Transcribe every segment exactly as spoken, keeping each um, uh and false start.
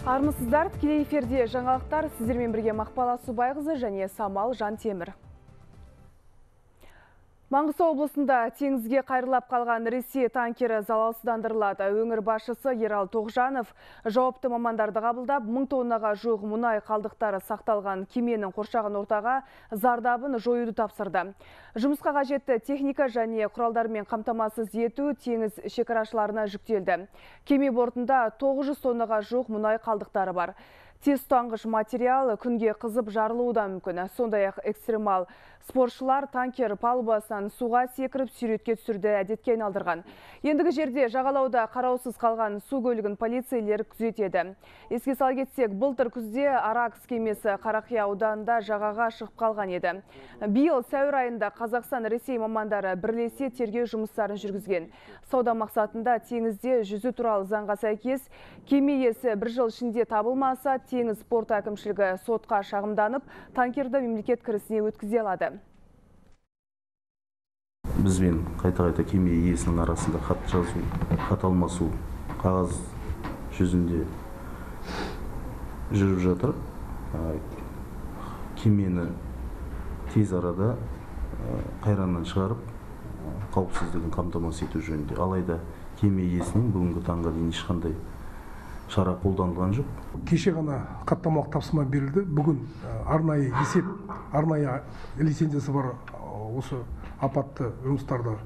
Армысыздар, тікелей эфирде жаңалықтар, сіздермен бірге Мақпала Субайқызы және Самал Жантемір. Маңғыстау облысында теңізге қайырлап қалған Ресей танкері залалсыздандырылады. Өңір басшысы Ерал Тоғжанов жауапты мамандарды қабылдап, мың тоннаға жуық мұнай қалдықтары сақталған кеменің қоршаған ортаға зардабын жоюды тапсырды. Жұмысқа қажетті техника және құралдармен қамтамасыз ету теңіз шекарашыларына жүктелді. Кеме бортында тоғыз жүз тоннаға жуық мұнай қалдықтары бар. Тез тұтанғыш материал күнге қызып жарылуы да мүмкін. Сондай-ақ экстремал спортшылар танкер палубасынан суға секіріп сүйретке түсірді әдетке айналдырған. Ендігі жерде жағалауда қараусыз қалған су көлігін полицейлер күзетеді. Еске сала кетсек, былтыр күзде Аракс кемесі Қарақия ауданында жағаға шығып қалған еді. Биыл сәуір айында Қазақстан Ресей мамандары бірлесе тергеу жұмыстарын жүргізген. Сауда мақсатында теңізде жүзу туралы заңға сәйкес кеме иесі бір жыл ішінде табылмаса, теңіз порт әкімшілігі сотқа шағымданып, танкерді мемлекет кірісіне өткізе алады. Бізбен қайта-қайта кеме иесінің арасында хат жазу, хат алмасу, қағаз жүзінде жүріп жатыр. Кемені тез арада қайраннан шығарып, қауіпсіздігін қамтамасыз ету жөнінде. Алайда кеме иесінің бүгінгі таңға дейін ешқандай шара қолданылған жоқ. Кеше ғана хаттамалық тапсырма берілді. Бүгін арнайы есеп, арнайы лицензиясы бар осы апатты жұмыстарды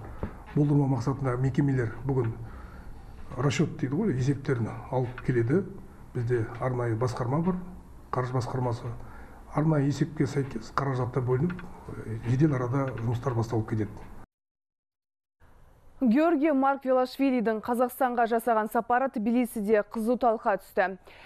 болдырмау мақсатында мекемелер бүгін расчет дейді ғой, есептерін алып келеді. Бізде арнайы басқарма бар, қаржы басқармасы. Арнайы есепке сәйкес қаражатта бөлініп, жедел арада жұмыстар басталып кетеді. Георгий Маргвелашвилидің Қазақстанға жасаған сапары Тбилисиде қызу талқыға түсті.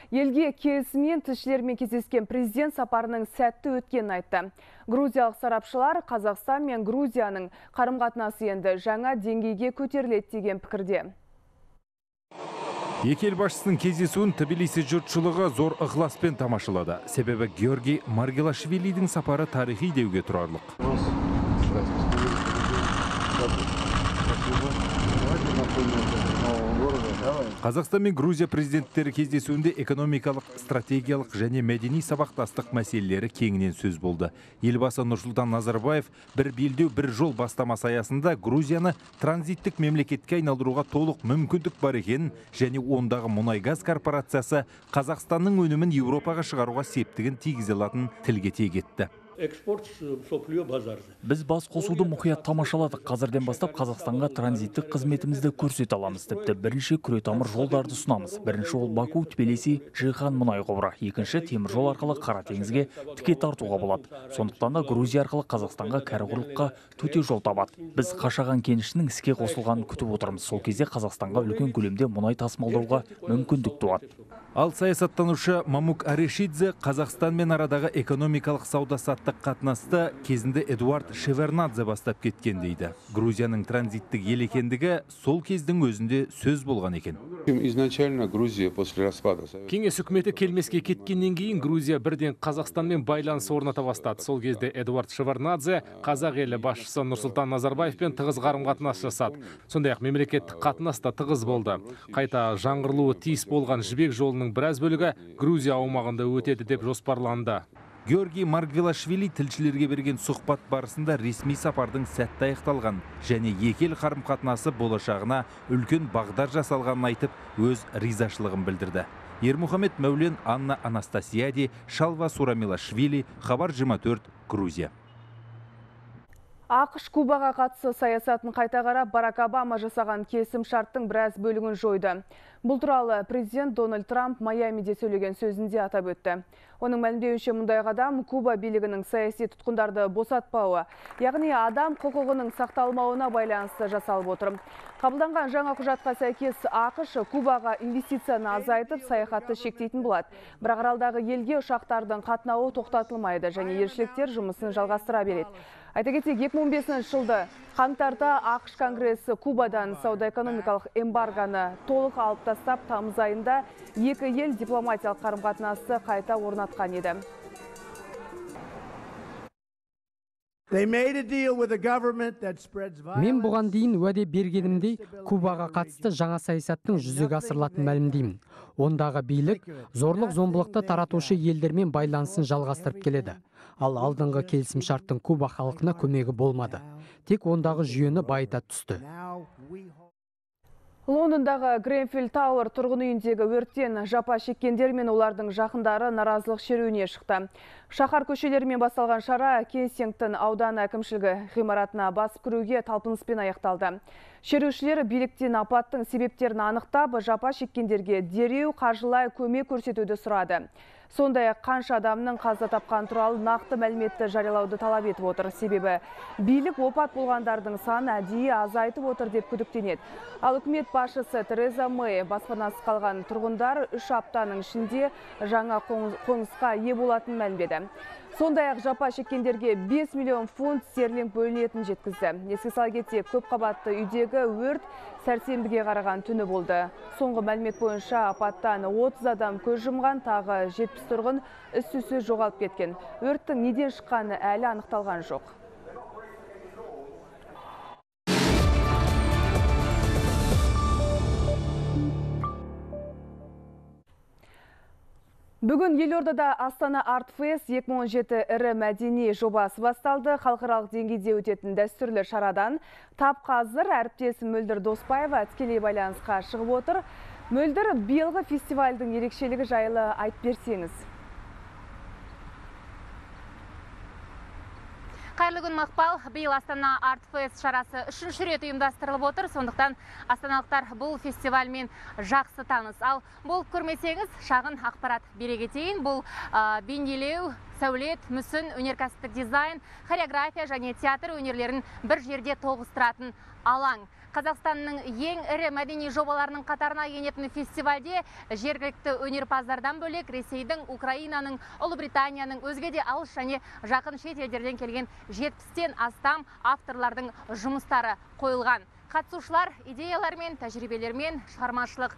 Елге келісімен тілшілермен кездескен президент сапарының сәтті өткенін айтты. Грузиялық сарапшылар Қазақстан мен Грузияның қарым-қатынасы енді жаңа деңгейге көтеріледі деген пікірде. Екі ел басшысының кездесуін Тбилиси жұртшылығы зор ықыласпен тамашалады. Себебі Георгий Маргвелашвилидің сапары тарихи деуге тұрарлық. Қазақстан мен Грузия президенттері кездесуінде экономикалық, стратегиялық және мәдени сабақтастық мәселелері кеңінен сөз болды. Елбасы Нұрсұлтан Назарбаев бір белдеу бір жол бастамасы аясында Грузияны транзиттік мемлекетке айналдыруға толық мүмкіндік бар екенін және ондағы мұнай-газ корпорациясы Қазақстанның өнімін Еуропаға шығаруға септігін тигізе алатынын тілге тиек етті. Біз бас қосуды мұқият тамашаладық. Қазірден бастап Қазақстанға транзиттік қызметімізді көрсете аламыз. Тіпті бірінші күретамыр жолдарды ұсынамыз. Бірінші ол Баку, Тбилиси, Жихан мұнай құбыры. Екінші темір жол арқылы Қара теңізге тіке тартуға болады. Сондықтан да Грузия арқылы Қазақстанға кәрі-құрлыққа төте жол табады. Біз Қашаған кенішінің іске қосылғанын күтіп отырмыз. Сол кезде Қазақстанға үлкен көлемде мұнай тасымалдауға мүмкіндік туады. Ал саясаттанушы Мамук Арешидзе Қазақстанмен арадағы экономикалық сауда-саттық қатынасты кезінде Эдуард Шевернадзе бастап кеткен дейді. Грузияның транзиттік ел екендігі сол кездің өзінде сөз болған екен. Кеңес үкіметі келмеске кеткеннен кейін Грузия бірден Қазақстанмен байланыс орната бастады. Сол кезде Эдуард Шевернадзе қазақ елі басшысы Нұрсұлтан Назарбаевпен тығыз қарым-қатынас жасады. Сондай-ақ мемлекеттік қатынас та тығыз болды. Қайта жаңғырылуы тиіс болған жібек жолының біраз бөлігі Грузия аумағында өтеді деп жоспарланды. Георгий Маргвелашвили тілшілерге берген сұхбат барысында ресми сапардың сәтті аяқталған және екі ел қарым-қатынасы болашағына үлкен бағдар жасалғанын айтып, өз ризашылығын білдірді. Ермұхамед Мәулен, Анна Анастасияди, Шалва Сурамилашвили, Хабар жиырма төрт, Грузия. ақш Кубаға қатысы саясатын қайта қарап, Барак Обама жасаған келісім шарттың біраз бөлігін жойды. Бұл туралы президент Дональд Трамп Майамиде сөйлеген сөзінде атап өтті. Оның мәлімдеуінше мұндай қадам Куба билігінің саяси тұтқындарды босатпауы, яғни адам құқығының сақталмауына байланысты жасалып отыр. Қабылданған жаңа құжатқа сәйкес ақш Кубаға инвестицияны азайтып, саяхатты шектейтін болады. Бірақ аралдағы елге ұшақтардың қатынауы тоқтатылмайды және елшіліктер жұмысын жалғастыра береді. Айта кетсек, екі мың он бесінші жылды қаңтарда ақш Конгресі Кубадан сауда-экономикалық эмбаргоны толық алып тастап, тамыз айында екі ел дипломатиялық қарым-қатынасты қайта орнатқан еді. Мен бұған дейін уәде бергенімдей Кубаға қатысты жаңа саясаттың жүзеге асырылатынын мәлімдеймін. Ондағы билік зорлық зомбылықты таратушы елдермен байланысын жалғастырып келеді. Ал алдыңғы келісімшарттың Куба халқына көмегі болмады. Тек ондағы жүйені байыта түсті. Лондондағы Гренфилл Тауэр тұрғын үйіндегі өрттен жапа шеккендер мен олардың жақындары наразылық шеруіне шықты. Шаһар көшелерімен басталған шара Кенсингтон ауданы әкімшілігі ғимаратына басып кіруге талпыныспен аяқталды. Шерушілер биліктен апаттың себептерін анықтап, жапа шеккендерге дереу қаржылай көмек көрсетуді сұрады. Сондай қанша адамның қаза тапқан туралы нақты мәліметті жариялауды талап етіп отыр. Себебі билік опат болғандардың саны әдейі азайтып отыр деп күдіктенеді. Ал үкімет басшысы Тереза Мэй баспанасыз қалған тұрғындар үш аптаның ішінде жаңа қонысқа ие болатынын мәлімдеді. Сондай-ақ жапа шеккендерге бес миллион фунт стерлинг бөлінетінін жеткізді. Еске сала кетсек, көп қабатты үйдегі өрт сәрсенбіге қараған түні болды. Соңғы мәлімет бойынша апаттан отыз адам көз жұмған, тағы жетпіс тұрғын із-түзсіз жоғалып кеткен. Өрттің неден шыққаны әлі анықталған жоқ. Бүгін Елордада Астана Арт Фест екі мың он жеті ірі мәдени жобасы басталды. Халықаралық деңгейде өтетін дәстүрлі шарадан тап қазір әріптесім Мөлдір Доспаева тікелей байланысқа шығып отыр. Мөлдір, биылғы фестивальдің ерекшелігі жайлы айтып берсеңіз. Қайырлы күн, Мақпал. Биыл Астана Арт Фест шарасы үшінші рет ұйымдастырылып отыр. Сондықтан астаналықтар бұл фестивальмен жақсы таныс. Ал болып көрмесеңіз, шағын ақпарат бере кетейін. Бұл ә, бейнелеу, сәулет, мүсін, өнеркәсіптік дизайн, хореография және театр өнерлерін бір жерде тоғыстыратын алаң. Қазақстанның ең ірі мәдени жобаларының қатарына енетін фестивальде жергілікті өнерпаздардан бөлек Ресейдің, Украинаның, Ұлыбританияның, өзге де алыс және жақын шет елдерден келген жетпістен астам авторлардың жұмыстары қойылған. Қатысушылар идеялармен, тәжірибелермен, шығармашылық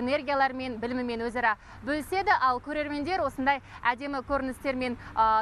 энергиялармен, білімімен өзара бөліседі, ал көрермендер осындай әдемі көріністермен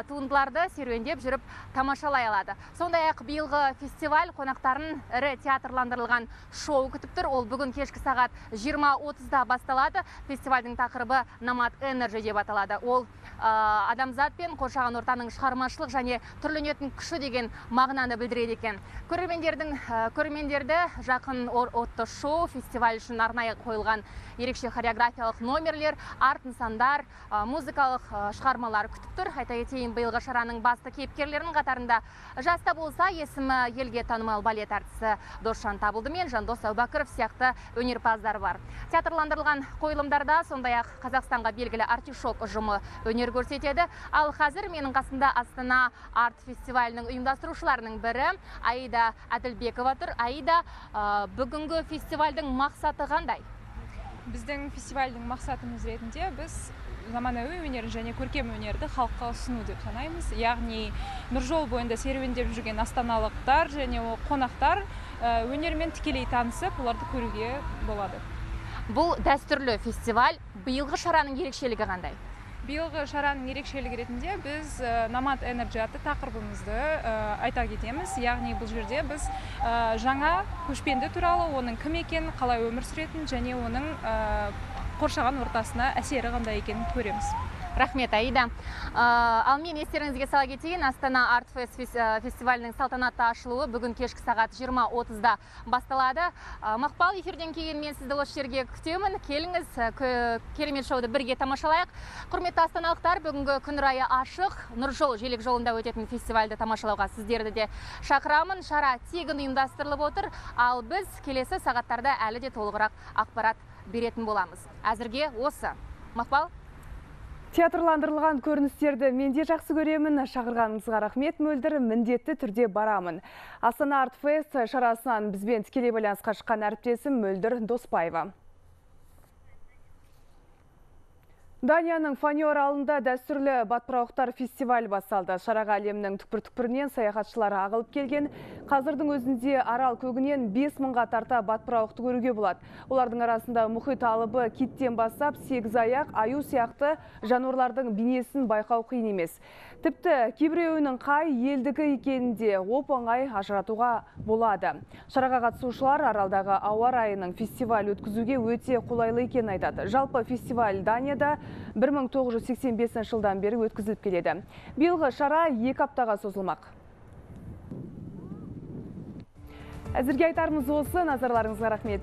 туындыларды серуендеп жүріп тамашалай алады. Сондай-ақ биылғы фестиваль қонақтарын ірі театрландырылған шоу күтіп тұр. Ол бүгін кешкі сағат жиырма отызда басталады. Фестивальдің тақырыбы Nomad Energy деп аталады. Ол адамзат пен қоршаған ортаның шығармашылық және түрленетін күші деген мағынаны білдіреді екен. Көрермендердің көрермендер жақын отты шоу, фестиваль үшін арнайы қойылған ерекше хореографиялық номерлер, арт нысандар, музыкалық шығармалар күтіп тұр. Айта кетейін, биылғы шараның басты кейіпкерлерінің қатарында жаста болса есімі елге танымал балет әртісі Досжан Табылды мен Жандос Әубәкіров сияқты өнерпаздар бар. Театрландырылған қойылымдарда сондай-ақ Қазақстанға белгілі артишок ұжымы өнер көрсетеді. Ал қазір менің қасында Астана арт фестивалінің ұйымдастырушыларының бірі Аида Әділбекова тұр. Аида, бүгінгі фестивальдің мақсаты қандай? Біздің фестивальдің мақсатымыз ретінде біз заманауи өнерін және көркем өнерді халыққа ұсыну деп санаймыз. Яғни Нұржол бойында серуендеп жүрген астаналықтар және қонақтар өнермен тікелей танысып, оларды көруге болады. Бұл дәстүрлі фестиваль. Биылғы шараның ерекшелігі қандай? Биылғы шараның ерекшелігі ретінде біз Nomad Energy атты тақырыбымызды айта кетеміз. Яғни бұл жерде біз жаңа көшпенді туралы, оның кім екенін, қалай өмір сүретін және оның қоршаған ортасына әсері қандай екенін көреміз. Рахмет, Аида. Ал мен естеріңізге сала кетейін, Астана Арт Фест фестивалінің салтанатты ашылуы бүгін кешкі сағат жиырма отызда басталады. Мақпал, эфирден кейін мен сізді осы жерге күтемін. Келіңіз, керемет шоуды бірге тамашалайық. Құрметті астаналықтар, бүгінгі күн райы ашық. Нұржол желек жолында өтетін фестивальді тамашалауға сіздерді де шақырамын. Шара тегін ұйымдастырылып отыр, ал біз келесі сағаттарда әлі де толығырақ ақпарат беретін боламыз. Әзірге осы. Мақпал? Театрландырылған көріністерді менде жақсы көремін. Шақырғаныңызға рахмет, Мөлдір, міндетті түрде барамын. Астана Арт Фест шарасынан бізбен тікелей байланысқа шыққан әріптесім Мөлдір Доспаева. Данияның Фаньо аралында дәстүрлі батпырауықтар фестиваль басталды. Шараға әлемнің түкпір-түкпірінен саяхатшылар ағылып келген. Қазірдің өзінде арал көгінен бес мыңға тарта батпырауықты көруге болады. Олардың арасында мұхит алыбы, киттен бастап сегіз аяқ, аю сияқты жануарлардың бейнесін байқау қиын емес. Тіпті кейбіреуінің қай елдігі екенінде оп-оңай ажыратуға болады. Шараға қатысушылар аралдағы ауа райының фестиваль өткізуге өте қолайлы екенін айтады. Жалпы фестиваль Данияда бір мың тоғыз жүз сексен бесінші жылдан бері өткізіліп келеді. Биылғы шара екі аптаға созылмақ. Әзірге айтарымыз осы, назарларыңызға рахмет.